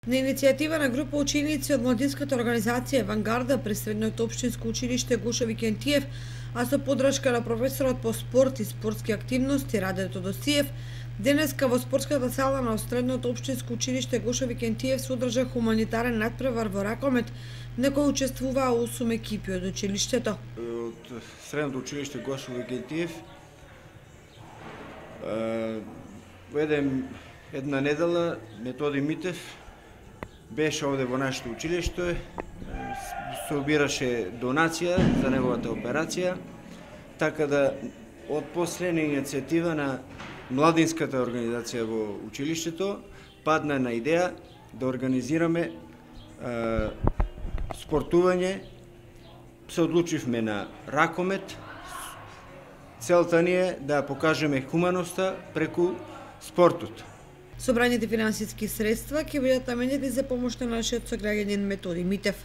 На иницијатива на група ученици од младинската организација Авангарда при Средното општинско училиште Гошо Викентиев, а со поддршка на професорот по спорт и спортски активности Раде Тодосиев, денеска во спортската сала на Средното општинско училиште Гошо Викентиев се одржа хуманитарен натпревар во ракомет, на кој учествуваа 8 екипи од училиштето. Од Средното училиште Гошо Викентиев во една недела Методи Митев беше овде во нашето училиште, собираше донација за неговата операција, така да од последна иницијатива на младинската организација во училиштето падна на идеја да организираме спортување. Се одлучивме на ракомет. Целта ни е да покажеме хуманоста преку спортот. Собраните финансиски средства ќе бидат наменети за помош на нашиот сограѓанин Методи Митев.